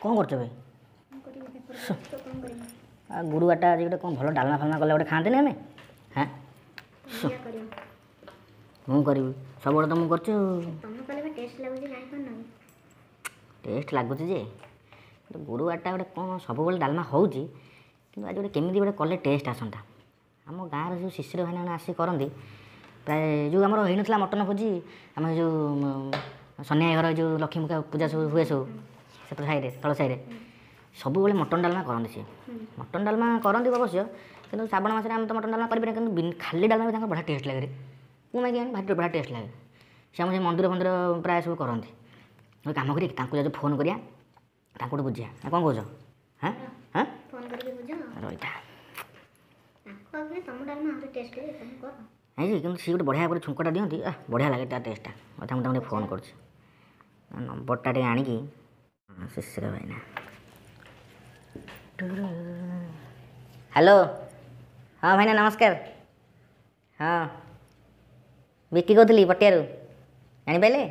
କ'ଣ କରୁଛ ଏବେ? ଆଉ ଗୁରୁବାରଟା ଆଜି ଗୋଟେ କ'ଣ ଭଲ ଡାଲମା ଫାଲମା କଲେ ଗୋଟେ ଖାଆନ୍ତିନି ଆମେ? ହଁ, ମୁଁ କରିବି, ସବୁବେଳେ ତ ମୁଁ କରୁଛି। ଟେଷ୍ଟ ଲାଗୁଛି ଯେ ଗୁରୁବାରଟା ଗୋଟେ କ'ଣ ସବୁବେଳେ ଡାଲମା ହେଉଛି, କିନ୍ତୁ ଆଜି ଗୋଟେ କେମିତି ଗୋଟେ କଲେ ଟେଷ୍ଟ ଆସନ୍ତା। ଆମ ଗାଁର ଯେଉଁ ଶିଶିର ଭାଇନା ଆସିକି କରନ୍ତି ପ୍ରାୟ, ଯେଉଁ ଆମର ହେଇନଥିଲା ମଟନ ଭୋଜି, ଆମ ଯେଉଁ ସନିଆ ଘର ଯେଉଁ ଲକ୍ଷ୍ମୀ ପୂଜା ସବୁ ହୁଏ ସବୁ ସେପଟ ସାହିରେ, ତଳ ସାହିରେ ସବୁବେଳେ ମଟନ ଡାଲମା କରନ୍ତି। ସିଏ ମଟନ ଡାଲମା କରନ୍ତି ଅବଶ୍ୟ, କିନ୍ତୁ ଶ୍ରାବଣ ମାସରେ ଆମେ ତ ମଟନ ଡାଲମା କରିପାରିବା, କିନ୍ତୁ ଖାଲି ଡାଲମା ବି ତାଙ୍କର ବଢ଼ିଆ ଟେଷ୍ଟ ଲାଗେ। ମୁଁ ମାଗି ଭାରି ବଢ଼ିଆ ଟେଷ୍ଟ ଲାଗେ। ସେ ଆମ ସେ ମନ୍ଦିର ଫନ୍ଦିର ପ୍ରାୟ ସବୁ କରନ୍ତି। ଗୋଟେ କାମ କରି ତାଙ୍କୁ ଯାଉ ଫୋନ୍ କରିବା, ତାଙ୍କଠୁ ବୁଝିବା ନା କ'ଣ କହୁଛ? ହଁ ହଁ, ରହିଥା। ନାଇଁ ଯେ କିନ୍ତୁ ସିଏ ଗୋଟେ ବଢ଼ିଆ ଗୋଟେ ଛୁଙ୍କଟା ଦିଅନ୍ତି, ବଢ଼ିଆ ଲାଗେ ତା ଟେଷ୍ଟଟା। କଥା ମୁଁ ତାଙ୍କୁ ଟିକେ ଫୋନ୍ କରୁଛି, ନମ୍ବରଟା ଟିକେ ଆଣିକି। ଶିଶିର ଭାଇନା, ହ୍ୟାଲୋ। ହଁ ଭାଇନା ନମସ୍କାର। ହଁ, ବିକି କହୁଥିଲି ପଟିଆରୁ, ଜାଣିପାରିଲେ?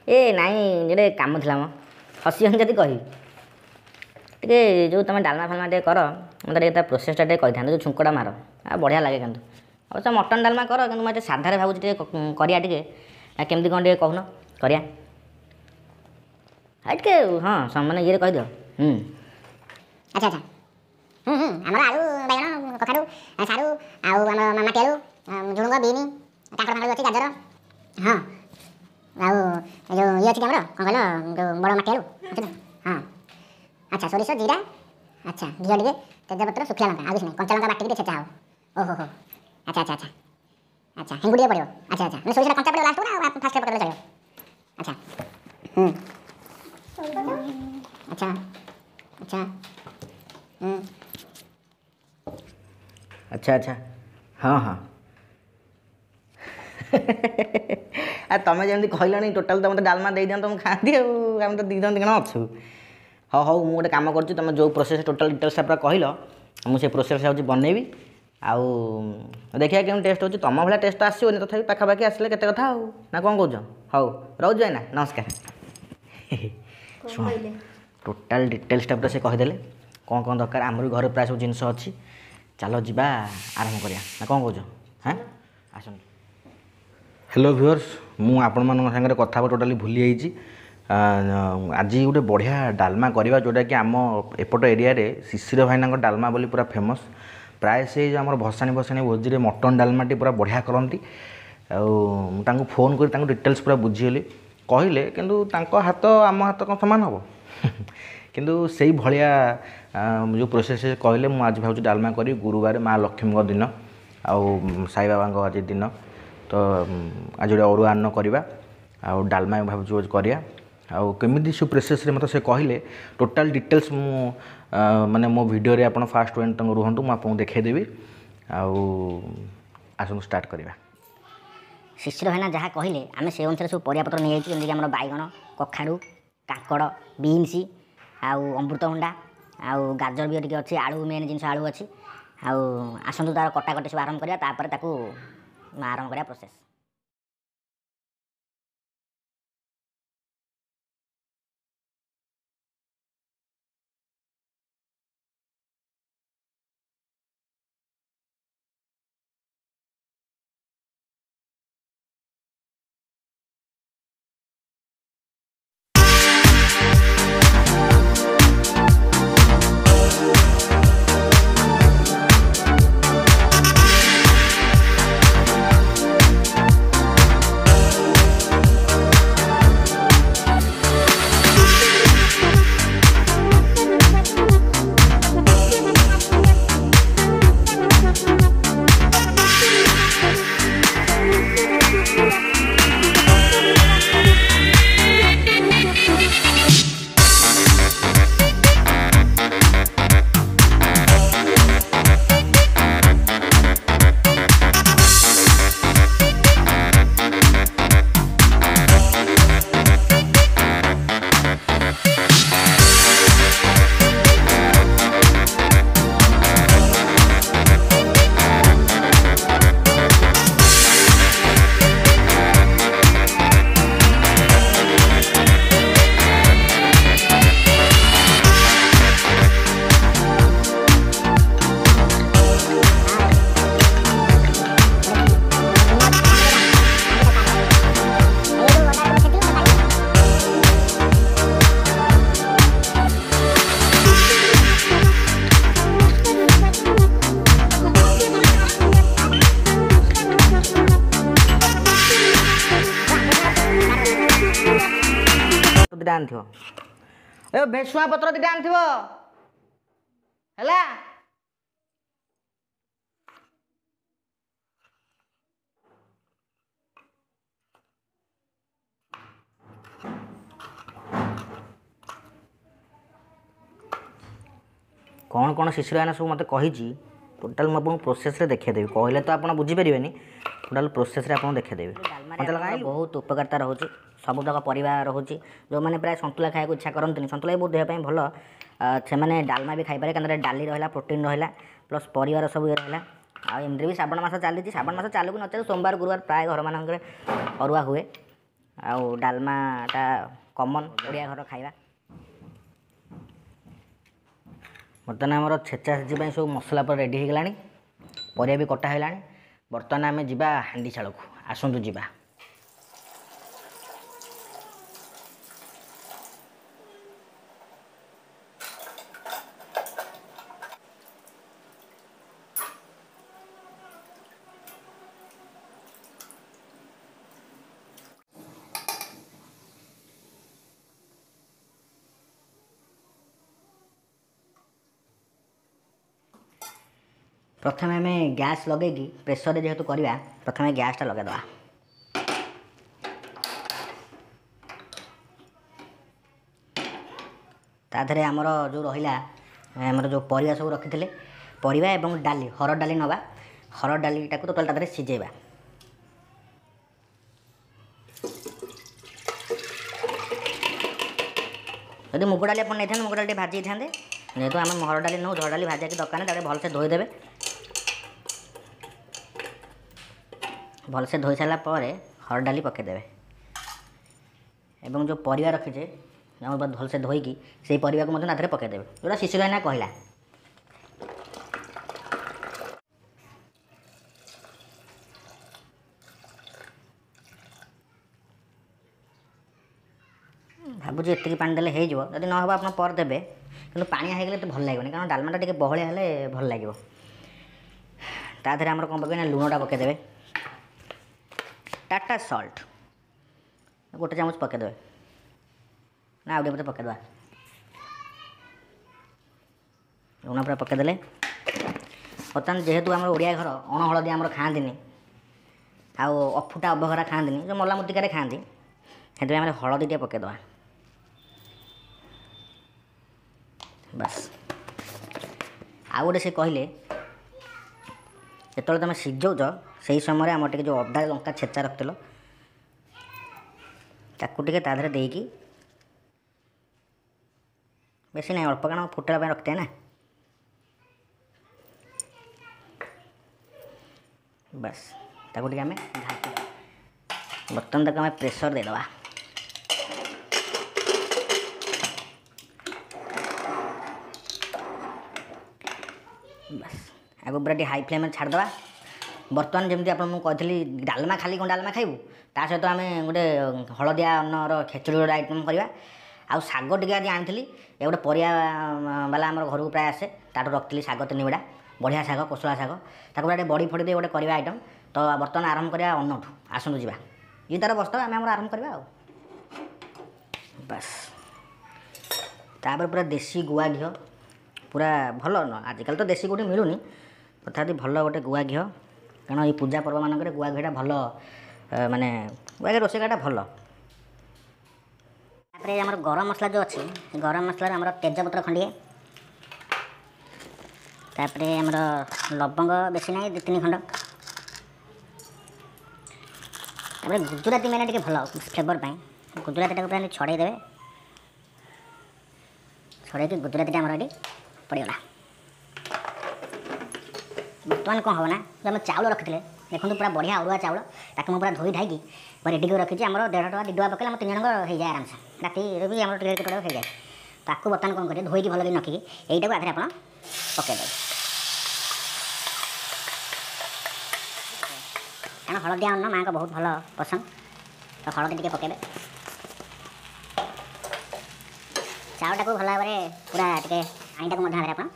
ଏ ନାଇଁ, ଗୋଟେ କାମ ଥିଲା ମ, ହସିବନି ଯଦି କହିବି। ଟିକେ ଯେଉଁ ତୁମେ ଡାଲମା ଫାଲମା ଟିକେ କର, ମୋତେ ଟିକେ ତା ପ୍ରୋସେସ୍ଟା ଟିକେ କହିଥାନ୍ତ, ଯେଉଁ ଛୁଙ୍କଟା ମାର ଆଉ ବଢ଼ିଆ ଲାଗେ। କିନ୍ତୁ ଅବଶ୍ୟ ମଟନ୍ ଡାଲମା କର, କିନ୍ତୁ ମୁଁ ଏତେ ସାଧାରେ ଭାବୁଛି ଟିକେ କରିବା ଟିକେ, କେମିତି କ'ଣ ଟିକେ କହୁନ କରିବା ଟିକେ। ହଁ, ମାନେ ଇଏରେ କହିଦିଅ। ଆଚ୍ଛା ଆଚ୍ଛା, ହୁଁ ହୁଁ, ଆମର ଆଳୁ, ବାଇଗଣ, କଖାରୁ, ସାରୁ, ଆଉ ଆମର ମାଟି ଆଳୁ, ଝୁଡ଼ୁଙ୍ଗ, ବିନ୍, କାଙ୍କଡ଼ ଫାଙ୍କଡ଼ ଅଛି, ଗାଜର, ହଁ, ଆଉ ଏ ଯେଉଁ ଇଏ ଅଛି କି ଆମର କ'ଣ କହିଲ, ଯେଉଁ ବଡ଼ ମାଟି ଆଳୁ ଅଛି ତ? ହଁ, ଆଚ୍ଛା, ସୋରିଷ, ଜିରା, ଆଚ୍ଛା, ଘିଅ ଟିକେ, ତେଜପତ୍ର, ଶୁଖିଲା ଲଙ୍କା, ଆଉ କିଛି ନାହିଁ, କଞ୍ଚା ଲଙ୍କା ବାଟିକି ଟିକେ ଛେଚା ହେବ। ଓହୋ ହୋ, ଆଚ୍ଛା ଆଚ୍ଛା ଆଚ୍ଛା ଆଚ୍ଛା, ହେଙ୍ଗୁ ଟିକେ ପଡ଼ିବ। ଆଚ୍ଛା ଆଚ୍ଛା, ମାନେ ସୋରିଷଟା କଞ୍ଚା ପଡ଼ିବ ଲାଷ୍ଟକୁ ନା ଫାଷ୍ଟରେ ପକେଇଲେ ଚଳିବ? ଆଚ୍ଛା, ହୁଁ, ଆଚ୍ଛା ଆଚ୍ଛା, ହୁଁ, ଆଚ୍ଛା ଆଚ୍ଛା, ହଁ ହଁ। ଆଉ ତୁମେ ଯେମିତି କହିଲଣି ଟୋଟାଲ୍ ତ ମୋତେ ଡାଲମା ଦେଇଦିଅନ୍ତ, ମୁଁ ଖାଆନ୍ତି। ଆଉ ଆମେ ତ ଦୁଇ ଜଣ ଦୁଇ ଜଣ ଅଛୁ। ହଉ ହଉ, ମୁଁ ଗୋଟେ କାମ କରୁଛି, ତୁମେ ଯେଉଁ ପ୍ରୋସେସ୍ ଟୋଟାଲ୍ ଡିଟେଲ୍ସଟା ପୁରା କହିଲ, ମୁଁ ସେ ପ୍ରୋସେସ୍ ହେଉଛି ବନେଇବି, ଆଉ ଦେଖିବା କେମିତି ଟେଷ୍ଟ ହେଉଛି। ତୁମ ଭଳିଆ ଟେଷ୍ଟ ତ ଆସିବନି, ତଥାପି ପାଖାପାଖି ଆସିଲେ କେତେ କଥା ଆଉ, ନା କ'ଣ କହୁଛ? ହଉ ରହୁଛି ଭାଇନା, ନମସ୍କାର। ଶୁଣ, ଟୋଟାଲ୍ ଡିଟେଲ୍ସଟା ପୁରା ସେ କହିଦେଲେ କ'ଣ କ'ଣ ଦରକାର। ଆମର ବି ଘରେ ପ୍ରାୟ ସବୁ ଜିନିଷ ଅଛି। ଚାଲ ଯିବା, ଆରମ୍ଭ କରିବା, ନା କ'ଣ କହୁଛ? ହଁ, ଆସନ୍ତୁ। ହ୍ୟାଲୋ ଭିଉଅର୍ସ, ମୁଁ ଆପଣମାନଙ୍କ ସାଙ୍ଗରେ କଥା ହେବା ଟୋଟାଲି ଭୁଲି ଯାଇଛି। ଆଜି ଗୋଟେ ବଢ଼ିଆ ଡାଲମା କରିବା, ଯେଉଁଟାକି ଆମ ଏପଟ ଏରିଆରେ ଶିଶିର ଭାଇନାଙ୍କ ଡାଲମା ବୋଲି ପୁରା ଫେମସ୍। ପ୍ରାୟ ସେ ଯେଉଁ ଆମର ଭସାଣି ଭସାଣି ଭୋଜିରେ ମଟନ୍ ଡାଲମାଟି ପୁରା ବଢ଼ିଆ କରନ୍ତି। ଆଉ ମୁଁ ତାଙ୍କୁ ଫୋନ୍ କରି ତାଙ୍କୁ ଡିଟେଲ୍ସ ପୁରା ବୁଝିଗଲି, କହିଲେ କିନ୍ତୁ ତାଙ୍କ ହାତ ଆମ ହାତ କ'ଣ ସମାନ ହେବ? କିନ୍ତୁ ସେଇ ଭଳିଆ ଯେଉଁ ପ୍ରୋସେସ୍ କହିଲେ, ମୁଁ ଆଜି ଭାବୁଛି ଡାଲମା କରିବି। ଗୁରୁବାର, ମା ଲକ୍ଷ୍ମୀଙ୍କ ଦିନ ଆଉ ସାଇବାବାଙ୍କ ଆଜି ଦିନ ତ, ଆଜି ଗୋଟେ ଅରୁଆ ଅନ୍ନ କରିବା ଆଉ ଡାଲମା ଭାବୁଛୁ କରିବା। ଆଉ କେମିତି ସବୁ ପ୍ରୋସେସ୍ରେ ମୋତେ ସେ କହିଲେ ଟୋଟାଲ୍ ଡିଟେଲ୍ସ, ମୁଁ ମାନେ ମୋ ଭିଡ଼ିଓରେ ଆପଣ ଫାଷ୍ଟ ୱାନ୍ ତାଙ୍କୁ ରୁହନ୍ତୁ, ମୁଁ ଆପଣଙ୍କୁ ଦେଖାଇଦେବି। ଆଉ ଆସନ୍ତୁ ଷ୍ଟାର୍ଟ କରିବା। ଶିଶିର ଭାଇନା ଯାହା କହିଲେ ଆମେ ସେ ଅନୁସାରେ ସବୁ ପରିବାପତ୍ର ନେଇଯାଇଛୁ, ଯେମିତିକି ଆମର ବାଇଗଣ, କଖାରୁ, କାଙ୍କଡ଼, ବିନ୍ସ, ଆଉ ଅମୃତଭଣ୍ଡା, ଆଉ ଗାଜର ବି ଟିକେ ଅଛି, ଆଳୁ, ମେନ୍ ଜିନିଷ ଆଳୁ ଅଛି। ଆଉ ଆସନ୍ତୁ ତା'ର କଟାକଟି ସବୁ ଆରମ୍ଭ କରିବା, ତାପରେ ତାକୁ ଆରମ୍ଭ କରିବା ପ୍ରୋସେସ୍। ଦୁଇଟା ଆଣିଥିବ, ଏ ଭେସୁଆ ପତ୍ର ଦୁଇଟା ଆଣିଥିବ, ହେଲା। କ'ଣ କ'ଣ ଶିଶିର ଭାଇନା ସବୁ ମୋତେ କହିଛି, ଟୋଟାଲ୍ ମୁଁ ଆପଣଙ୍କୁ ପ୍ରୋସେସ୍ରେ ଦେଖାଇଦେବି। କହିଲେ ତ ଆପଣ ବୁଝିପାରିବେନି, ଟୋଟାଲ୍ ପ୍ରୋସେସ୍ରେ ଆପଣଙ୍କୁ ଦେଖାଇଦେବି। ବହୁତ ଉପକାରିତା ରହୁଛି, ସବୁତକ ପରିବା ରହୁଛି। ଯେଉଁମାନେ ପ୍ରାୟ ସନ୍ତୁଳା ଖାଇବାକୁ ଇଚ୍ଛା କରନ୍ତିନି, ସନ୍ତୁଳା ବି ବହୁତ ଦେହ ପାଇଁ ଭଲ, ସେମାନେ ଡାଲମା ବି ଖାଇପାରିବେ। କାରଣ ଡାଲି ରହିଲା, ପ୍ରୋଟିନ୍ ରହିଲା, ପ୍ଲସ୍ ପରିବାର ସବୁ ଇଏ ରହିଲା। ଆଉ ଏମିତିରେ ବି ଶ୍ରାବଣ ମାସ ଚାଲିଛି, ଶ୍ରାବଣ ମାସ ଚାଲୁ କି ନ ଚାଲୁ ସୋମବାର ଗୁରୁବାର ପ୍ରାୟ ଘରମାନଙ୍କରେ ଅରୁଆ ହୁଏ, ଆଉ ଡାଲମାଟା କମନ୍ ଓଡ଼ିଆ ଘର ଖାଇବା। ବର୍ତ୍ତମାନ ଆମର ଛେଚା ଛେଚି ପାଇଁ ସବୁ ମସଲା ପୁରା ରେଡ଼ି ହେଇଗଲାଣି, ପରିବା ବି କଟା ହେଇଗଲାଣି। ବର୍ତ୍ତମାନ ଆମେ ଯିବା ହାଣ୍ଡିଶାଳକୁ, ଆସନ୍ତୁ ଯିବା। ପ୍ରଥମେ ଆମେ ଗ୍ୟାସ୍ ଲଗେଇକି ପ୍ରେସରରେ ଯେହେତୁ କରିବା, ପ୍ରଥମେ ଗ୍ୟାସ୍ଟା ଲଗାଇଦେବା। ତା ଦେହରେ ଆମର ଯେଉଁ ରହିଲା, ଆମର ଯେଉଁ ପରିବା ସବୁ ରଖିଥିଲେ, ପରିବା ଏବଂ ଡାଲି, ହରଡ଼ ଡାଲି ନେବା। ହରଡ଼ ଡାଲିଟାକୁ ଟୋଟାଲ୍ ତା ଦେହରେ ସିଝେଇବା। ଯଦି ମୁଗ ଡାଲି ଆପଣ ନେଇଥାନ୍ତେ, ମୁଗ ଡାଲି ଟିକେ ଭାଜି ଦେଇଥାନ୍ତେ। ଯେହେତୁ ଆମେ ହରଡ଼ ଡାଲି ନେଉ, ହରଡ଼ ଡାଲି ଭାଜିବା କିଛି ଦରକାର ନାହିଁ। ତାକୁ ଭଲସେ ଧୋଇଦେବେ। ଭଲସେ ଧୋଇ ସାରିଲା ପରେ ହରଡ଼ ଡାଲି ପକାଇଦେବେ ଏବଂ ଯେଉଁ ପରିବା ରଖିଛେ ଆମେ ଭଲସେ ଧୋଇକି ସେଇ ପରିବାକୁ ମଧ୍ୟ ତା ଦେହରେ ପକାଇଦେବେ, ଯେଉଁଟା ଶିଶିର ଭାଇନା କହିଲା। ଭାବୁଛି ଏତିକି ପାଣି ଦେଲେ ହେଇଯିବ, ଯଦି ନ ହେବ ଆପଣ ପରେ ଦେବେ, କିନ୍ତୁ ପାଣିଆ ହେଇଗଲେ ଏତେ ଭଲ ଲାଗିବନି, କାରଣ ଡାଲମାଟା ଟିକେ ବହଳିଆ ହେଲେ ଭଲ ଲାଗିବ। ତା ଦେହରେ ଆମର କ'ଣ ପକାଇବେ ନା ଲୁଣଟା ପକାଇଦେବେ, ଟାଟା ସଲ୍ଟ ଗୋଟେ ଚାମଚ ପକାଇଦେବେ, ନା ଆଉ ଟିକେ ପକାଇଦେବା। ଲୁଣ ପୁରା ପକାଇଦେଲେ। ବର୍ତ୍ତମାନ ଯେହେତୁ ଆମର ଓଡ଼ିଆ ଘର ଅଣ ହଳଦୀ ଆମର ଖାଆନ୍ତିନି, ଆଉ ଅଫୁଟା ଅବଘରା ଖାଆନ୍ତିନି, ଯେଉଁ ମଲା ମୂର୍ତ୍ତିକାରେ ଖାଆନ୍ତି, ସେଥିପାଇଁ ଆମର ହଳଦୀ ଟିକେ ପକାଇଦେବା। ବାସ୍। ଆଉ ଗୋଟେ ସେ କହିଲେ, ଯେତେବେଳେ ତୁମେ ସିଝାଉଛ ସେଇ ସମୟରେ ଆମର ଟିକେ ଯେଉଁ ଅଦା ଲଙ୍କା ଛେଚା ରଖିଥିଲ ତାକୁ ଟିକେ ତା ଦେହରେ ଦେଇକି, ବେଶୀ ନାହିଁ ଅଳ୍ପ, କାରଣ ଫୁଟେଇବା ପାଇଁ ରଖିଥାଏ ନା। ବାସ୍ ତାକୁ ଟିକେ ଆମେ ଢାଙ୍କିଦେବା। ବର୍ତ୍ତମାନ ତାକୁ ଆମେ ପ୍ରେସର ଦେଇଦେବା। ବାସ୍ ଆଗକୁ ପୁରା ଟିକେ ହାଇ ଫ୍ଲେମ୍ରେ ଛାଡ଼ିଦେବା। ବର୍ତ୍ତମାନ ଯେମିତି ଆପଣ ମୁଁ କହିଥିଲି ଡାଲମା ଖାଲି କ'ଣ ଡାଲମା ଖାଇବୁ, ତା ସହିତ ଆମେ ଗୋଟେ ହଳଦିଆ ଅନ୍ନର ଖେଚୁଡ଼ି ଗୋଟେ ଆଇଟମ୍ କରିବା। ଆଉ ଶାଗ ଟିକେ ଆଜି ଆଣିଥିଲି, ଏ ଗୋଟେ ପରିବା ବାଲା ଆମର ଘରକୁ ପ୍ରାୟ ଆସେ, ତାଠୁ ରଖିଥିଲି ଶାଗ 3 ବିଡ଼ା, ବଢ଼ିଆ ଶାଗ, କୋଶଳା ଶାଗ, ତାକୁ ପୁରା ଟିକେ ବଡ଼ି ଫଡ଼ି ଦେଇ ଗୋଟେ କରିବା ଆଇଟମ୍। ତ ବର୍ତ୍ତମାନ ଆରମ୍ଭ କରିବା ଅନ୍ନଠୁ, ଆସନ୍ତୁ ଯିବା। ଇଏ ତାର ବସ୍ତା, ଆମେ ଆମର ଆରମ୍ଭ କରିବା ଆଉ। ବାସ୍ ତାପରେ ପୁରା ଦେଶୀ ଗୁଆ ଘିଅ, ପୁରା ଭଲ, ଆଜିକାଲି ତ ଦେଶୀ କେଉଁଠି ମିଳୁନି, ତଥାପି ଭଲ ଗୋଟେ ଗୁଆ ଘିଅ, କାରଣ ଏଇ ପୂଜା ପର୍ବମାନଙ୍କରେ ଗୁଆ ଘିଅଟା ଭଲ, ମାନେ ଗୁଆ ଘିଅ ରୋଷେଇ କରିବାଟା ଭଲ। ତାପରେ ଆମର ଗରମ ମସଲା ଯେଉଁ ଅଛି, ଗରମ ମସଲାରେ ଆମର ତେଜପତ୍ର ଖଣ୍ଡିଏ, ତାପରେ ଆମର ଲବଙ୍ଗ ବେଶୀ ନାହିଁ 2-3 ଖଣ୍ଡ, ତାପରେ ଗୁଜୁରାତି ମେନେ ଟିକେ ଭଲ ଫ୍ଲେଭର ପାଇଁ, ଗୁଜୁରାତିଟାକୁ ପୁରା ଛଡ଼େଇ ଦେବେ, ଛଡ଼େଇକି ଗୁଜୁରାତିଟା ଆମର ଏଠି ପଡ଼ିଗଲା। ବର୍ତ୍ତମାନ କ'ଣ ହେବ ନା, ଯେଉଁ ଆମେ ଚାଉଳ ରଖିଥିଲେ, ଦେଖନ୍ତୁ ପୁରା ବଢ଼ିଆ ଅରୁଆ ଚାଉଳ, ତାକୁ ମୁଁ ପୁରା ଧୋଇ ଧାଇକି ରେଡ଼ି କରି ରଖିଛି। ଆମର 1.5 ଟଙ୍କା 2 ଟଙ୍କା ପକେଇଲେ ଆମ 3 ଜଣଙ୍କ ହେଇଯାଏ ଆରାମସେ, ରାତିରେ ବି ଆମର ଟିକେ କେତେବେଳେ ହେଇଯାଏ। ତାକୁ ବର୍ତ୍ତମାନ କ'ଣ କରିବେ, ଧୋଇକି ଭଲ କରି ରଖିକି ଏଇଟାକୁ ଆଧରେ ଆପଣ ପକାଇଦେବେ, କାରଣ ହଳଦିଆ ଅନ୍ନ ମାଆଙ୍କ ବହୁତ ଭଲ ପସନ୍ଦ, ତ ହଳଦୀ ଟିକେ ପକାଇବେ। ଚାଉଳଟାକୁ ଭଲ ଭାବରେ ପୁରା ଟିକେ ପାଣିଟାକୁ ମଧ୍ୟ ଆଧରେ ଆପଣ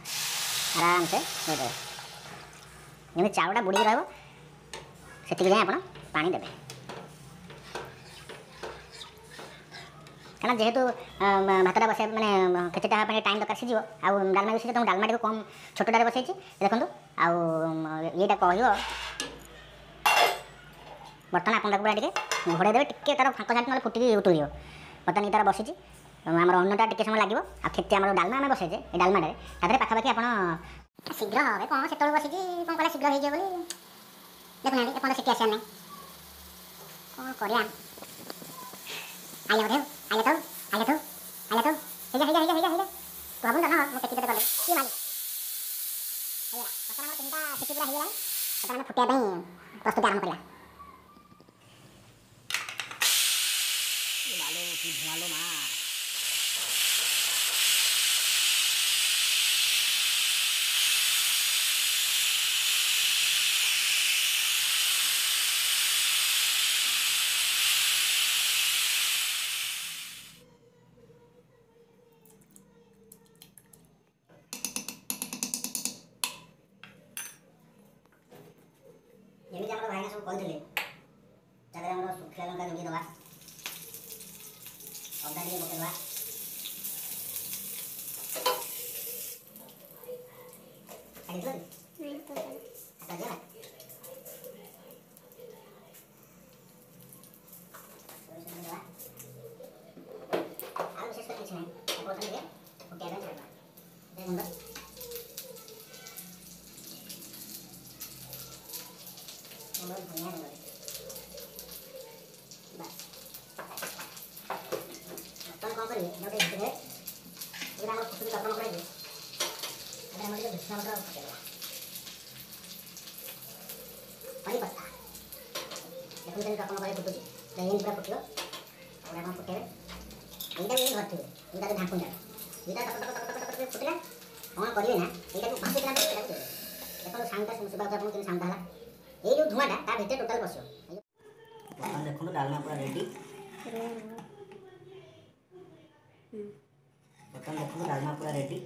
ଆରାମସେ ଦେଇଦେବେ, ଯେମିତି ଚାଉଳଟା ବୁଡ଼ିକି ରହିବ ସେତିକି ଯାଏଁ ଆପଣ ପାଣି ଦେବେ, କାରଣ ଯେହେତୁ ଭାତଟା ବସାଇବା ମାନେ ଖେଚେଡ଼ିଟା ହେବା ପାଇଁ ଟାଇମ୍ ଦରକାର, ସିଝିବ ଆଉ ଡାଲମା ବି ସିଝିବ। ତ ମୁଁ ଡାଲମାଟିକୁ କମ୍ ଛୋଟଟାରେ ବସେଇଛି ଦେଖନ୍ତୁ। ଆଉ ଇଏଟା କହିବ ବର୍ତ୍ତମାନ ଆପଣ ତାକୁ ପୁରା ଟିକେ ଘୋଡ଼େଇ ଦେବେ, ଟିକେ ତାର ଫାଙ୍କ ଛାଡ଼ି, ନହେଲେ ଫୁଟିକି ଉତୁଳିଯିବ। ବର୍ତ୍ତମାନ ଇଏ ତାର ବସିଛି ଆମର ଅନ୍ନଟା, ଟିକେ ସମୟ ଲାଗିବ। ଆଉ ଖେଚି ଆମର ଡାଲମା ଆମେ ବସେଇଛେ, ଏ ଡାଲମାଟାରେ ତା ଦେହରେ ପାଖାପାଖି ଆପଣ ଶୀଘ୍ର হবে କ'ଣ, ସେତେବେଳୁ ବସିଛି କ'ଣ କଲା ଶୀଘ୍ର ହେଇଯିବ ବୋଲି। ଦେଖୁନାହାନ୍ତି, ଏପର୍ଯ୍ୟନ୍ତ ସିଟି ଆସିବାର ନାହିଁ। କ'ଣ କରିବା? ଆଇଲା ବୋଧେ, ଆଇଲା ତ, ଆଇଲା ତ, ଆଇଲା ତ। ହେଇଯା ହେଇଯା ହେଇଯା ହେଇଯା ହେଇଯା, ତୁ ଭାବୁନ ତ ମୁଁ କେତେ କେତେ କଲି କିଏ ମାରି ହେଇଗଲା। ବର୍ତ୍ତମାନ ଆମର 3ଟା ସିଟି ପୁରା ହେଇଗଲାଣି। ବର୍ତ୍ତମାନ ଆମେ ଫୁଟିବା ପାଇଁ ପ୍ରସ୍ତୁତି ଆରମ୍ଭ କରିବା। ମାଲୋ, କି ଧୂଆଁ ଲୋ ମା! ଯେମିତି ଆମର ଭାଇନା ସବୁ କହିଥିଲେ, ତା ଦେହରେ ଆମର ଶୁଖିଲା ଲଙ୍କା ଯୋଡ଼ିଏ ଦେବା, ଅଦା ଟିକେ ପକେଇଦେବା। କାଟିଥିଲ କି? ହାତ ଦିଅ। ସୋରିଷ ଟିକେ ଦେବା। ଆଉ ବିଶେଷ କରି କିଛି ନାହିଁ। ତାକୁ ବର୍ତ୍ତମାନ ଟିକେ ଫୁଟିବା ପାଇଁ ଛାଡ଼ିଦେବା। ଗୁଣ୍ଡ ଆମର ଧନିଆ ଗୁଣ୍ଡ, ବାସ୍। ବର୍ତ୍ତମାନ କ'ଣ କରିବେ, ଏଇଟା ଗୋଟେ ଘିତି ଦେବେ। ଏଇଟା ଆମର ଫୁଟୁଛି ଟକମକ ହେଇକି। ତାପରେ ଆମର ଟିକେ ଭୃଷଙ୍ଗ ପତ୍ର ପକେଇଦେବା, କରି ପତ୍ତା। ଦେଖନ୍ତୁ କେମିତି ଟକମକ ହେଇ ଫୁଟୁଛି। ତ ଏମିତି ପୁରା ଫୁଟିବ। ତାପରେ ଆପଣ ଫୁଟେଇବେ। ଏଇଟାକୁ ଏମିତି ଧରିଥିବେ, ଏଇଟା ଯୋଉ ଢାଙ୍କୁଣିଟା, ଏଇଟା ଟକ ଟକ ଟକ ଟକ ଟକ ଫୁଟିଲା। କ'ଣ କରିବେ ନା, ଏଇଟାକୁ ଭାସିଥିଲା ପରେ ଏଇଟାକୁ ଦେବେ। ଦେଖନ୍ତୁ, ସାଉଣ୍ଡଟା ଶୁଭାଯାଉଛି ଆପଣଙ୍କୁ କେମିତି ସାଉଣ୍ଡଟା ହେଲା? ଏଇ ଯୋଉ ଧୂଆଁଟା ତା ଭିତରେ ଟୋଟାଲ ପଶିବ। ବର୍ତ୍ତମାନ ଦେଖନ୍ତୁ, ଡାଲମା ପୁରା ରେଡ଼ି। ବର୍ତ୍ତମାନ ଦେଖନ୍ତୁ, ଡାଲମା ପୁରା ରେଡ଼ି।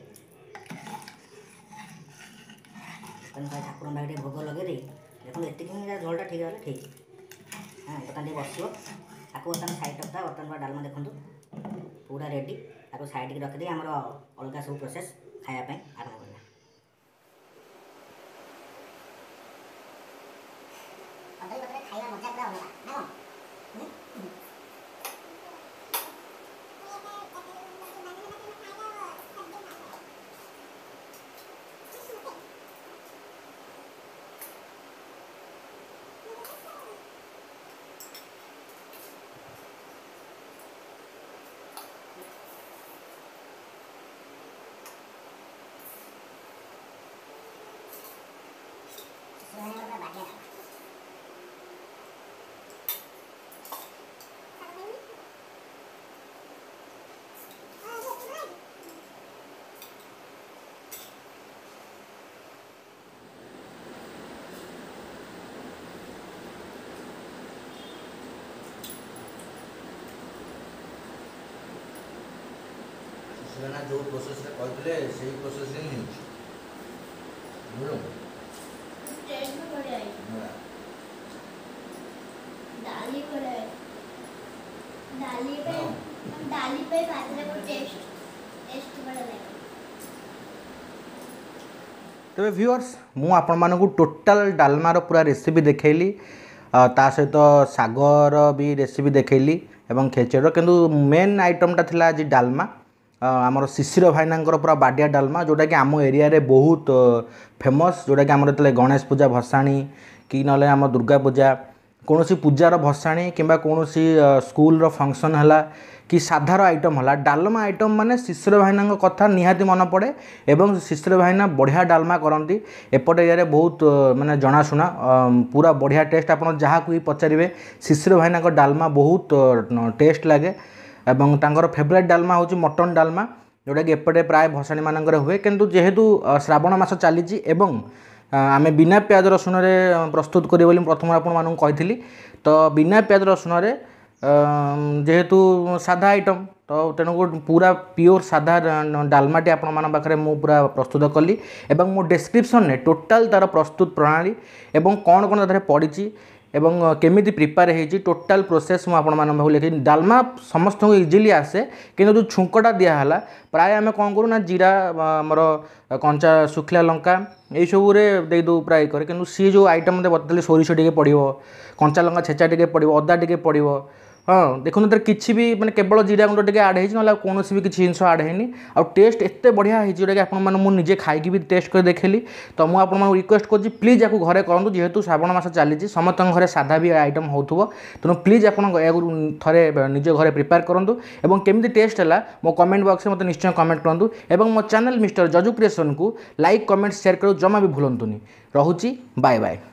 ବର୍ତ୍ତମାନ ପ୍ରାୟ ଠାକୁରଙ୍କ ପାଖରେ ଟିକେ ଭୋଗ ଲଗେଇ ଦେଇ, ଦେଖନ୍ତୁ, ଏତିକି ହିଁ ଝୋଳଟା ଠିକ୍ ହେଲେ ଠିକ୍। ହଁ, ବର୍ତ୍ତମାନ ଟିକେ ବସିବ। ତାକୁ ବର୍ତ୍ତମାନ ସାଇଡ଼୍ ରଖିଦେବା। ବର୍ତ୍ତମାନ ପୁରା ଡାଲମା ଦେଖନ୍ତୁ ପୁରା ରେଡ଼ି। ତାକୁ ସାଇଡ଼୍କି ରଖିଦେଇ ଆମର ଅଲଗା ସବୁ ପ୍ରୋସେସ୍ ଖାଇବା ପାଇଁ ଆରମ୍ଭ କରିବା। କଦଳୀ ପତ୍ରରେ ଖାଇବା ମଜା ପୁରା ଅଲଗା ନା କ'ଣ? ପୁରା ବାଡ଼ିଆ ଡାଲମା। ସୁନା ଯେଉଁ ପ୍ରୋସେସ୍ରେ କହିଥିଲେ, ସେଇ ପ୍ରୋସେସ୍ରେ ହିଁ ହେଉଛି, ବୁଝିଲୁ? ଟେଷ୍ଟ ବି ବଢ଼ିଆ ହେଇଛି। ଡାଲି ବଢ଼ିଆ ହେଇଛି। ଡାଲି ପାଇଁ, ଡାଲି ପାଇଁ ଭାତରେ ବହୁତ ଟେଷ୍ଟ ଟେଷ୍ଟ ବଢ଼ିଆ ଲାଗେ। ତେବେ ଭିଉଅର୍ସ, ମୁଁ ଆପଣମାନଙ୍କୁ ଟୋଟାଲ୍ ଡାଲମାର ପୁରା ରେସିପି ଦେଖେଇଲି, ତା ସହିତ ଶାଗର ବି ରେସିପି ଦେଖେଇଲି ଏବଂ ଖେଚେଡ଼ିର। କିନ୍ତୁ ମେନ୍ ଆଇଟମ୍ଟା ଥିଲା ଆଜି ଡାଲମା, ଆମର ଶିଶିର ଭାଇନାଙ୍କର ପୁରା ବାଡ଼ିଆ ଡାଲମା, ଯେଉଁଟାକି ଆମ ଏରିଆରେ ବହୁତ ଫେମସ୍। ଯେଉଁଟାକି ଆମର ଯେତେବେଳେ ଗଣେଶ ପୂଜା ଭସାଣି କି ନହେଲେ ଆମ ଦୁର୍ଗା ପୂଜା, କୌଣସି ପୂଜାର ଭସାଣି କିମ୍ବା କୌଣସି ସ୍କୁଲର ଫଙ୍କସନ୍ ହେଲା କି ସାଧାର ଆଇଟମ୍ ହେଲା, ଡାଲମା ଆଇଟମ୍ ମାନେ ଶିଶିର ଭାଇନାଙ୍କ କଥା ନିହାତି ମନେ ପଡ଼େ। ଏବଂ ଶିଶିର ଭାଇନା ବଢ଼ିଆ ଡାଲମା କରନ୍ତି, ଏପଟ ଏରିଆରେ ବହୁତ ମାନେ ଜଣାଶୁଣା, ପୁରା ବଢ଼ିଆ ଟେଷ୍ଟ। ଆପଣ ଯାହାକୁ ବି ପଚାରିବେ, ଶିଶିର ଭାଇନାଙ୍କ ଡାଲମା ବହୁତ ଟେଷ୍ଟ ଲାଗେ। ଏବଂ ତାଙ୍କର ଫେଭରାଇଟ୍ ଡାଲମା ହେଉଛି ମଟନ୍ ଡାଲମା, ଯେଉଁଟାକି ଏପଟେ ପ୍ରାୟ ଭସାଣି ମାନଙ୍କରେ ହୁଏ। କିନ୍ତୁ ଯେହେତୁ ଶ୍ରାବଣ ମାସ ଚାଲିଛି ଏବଂ ଆମେ ବିନା ପିଆଜ ରସୁଣରେ ପ୍ରସ୍ତୁତ କରିବୁ ବୋଲି ମୁଁ ପ୍ରଥମରୁ ଆପଣମାନଙ୍କୁ କହିଥିଲି, ତ ବିନା ପିଆଜ ରସୁଣରେ ଯେହେତୁ ସାଧା ଆଇଟମ୍, ତ ତେଣୁ ପୁରା ପିଓର ସାଧା ଡାଲମାଟି ଆପଣମାନଙ୍କ ପାଖରେ ମୁଁ ପୁରା ପ୍ରସ୍ତୁତ କଲି। ଏବଂ ମୋ ଡେସ୍କ୍ରିପସନ୍ରେ ଟୋଟାଲ୍ ତା'ର ପ୍ରସ୍ତୁତ ପ୍ରଣାଳୀ ଏବଂ କ'ଣ କ'ଣ ତା ଦେହରେ ପଡ଼ିଛି ଏବଂ କେମିତି ପ୍ରିପେୟାର ହେଇଛି, ଟୋଟାଲ୍ ପ୍ରୋସେସ୍ ମୁଁ ଆପଣମାନଙ୍କ ପାଖକୁ ଲେଖିଛି। ଡାଲମା ସମସ୍ତଙ୍କୁ ଇଜିଲି ଆସେ, କିନ୍ତୁ ଯେଉଁ ଛୁଙ୍କଟା ଦିଆହେଲା, ପ୍ରାୟ ଆମେ କ'ଣ କରୁ ନା ଜିରା, ଆମର କଞ୍ଚା ଶୁଖିଲା ଲଙ୍କା ଏଇସବୁରେ ଦେଇଦେଉ ପ୍ରାୟ କରେ। କିନ୍ତୁ ସିଏ ଯେଉଁ ଆଇଟମ୍ ମୋତେ ବତେଇଲେ, ସୋରିଷ ଟିକେ ପଡ଼ିବ, କଞ୍ଚା ଲଙ୍କା ଛେଚା ଟିକେ ପଡ଼ିବ, ଅଦା ଟିକେ ପଡ଼ିବ। ହଁ, ଦେଖନ୍ତୁ, ତାର କିଛି ବି ମାନେ କେବଳ ଜିରା ଗୁଣ୍ଡ ଟିକେ ଆଡ଼୍ ହେଇଛି, ନହେଲେ ଆଉ କୌଣସି ବି କିଛି ଜିନିଷ ଆଡ଼୍ ହେଇନି। ଆଉ ଟେଷ୍ଟ ଏତେ ବଢ଼ିଆ ହେଇଛି, ଯେଉଁଟାକି ଆପଣମାନେ ମୁଁ ନିଜେ ଖାଇକି ବି ଟେଷ୍ଟ କରି ଦେଖିଲି। ତ ମୁଁ ଆପଣମାନଙ୍କୁ ରିକ୍ୱେଷ୍ଟ କରୁଛି, ପ୍ଲିଜ୍ ୟାକୁ ଘରେ କରନ୍ତୁ। ଯେହେତୁ ଶ୍ରାବଣ ମାସ ଚାଲିଛି, ସମସ୍ତଙ୍କ ଘରେ ସାଧା ବି ଆଇଟମ୍ ହେଉଥିବ, ତେଣୁ ପ୍ଲିଜ୍ ଆପଣ ଏହାକୁ ଥରେ ନିଜ ଘରେ ପ୍ରିପେୟାର କରନ୍ତୁ ଏବଂ କେମିତି ଟେଷ୍ଟ ହେଲା ମୋ କମେଣ୍ଟ ବକ୍ସରେ ମୋତେ ନିଶ୍ଚୟ କମେଣ୍ଟ କରନ୍ତୁ ଏବଂ ମୋ ଚ୍ୟାନେଲ୍ ମିଷ୍ଟର ଜଜୁ କ୍ରିଏସନ୍କୁ ଲାଇକ୍, କମେଣ୍ଟ, ସେୟାର କରିବାକୁ ଜମା ବି ଭୁଲନ୍ତୁନି। ରହୁଛି, ବାଏ ବାଏ।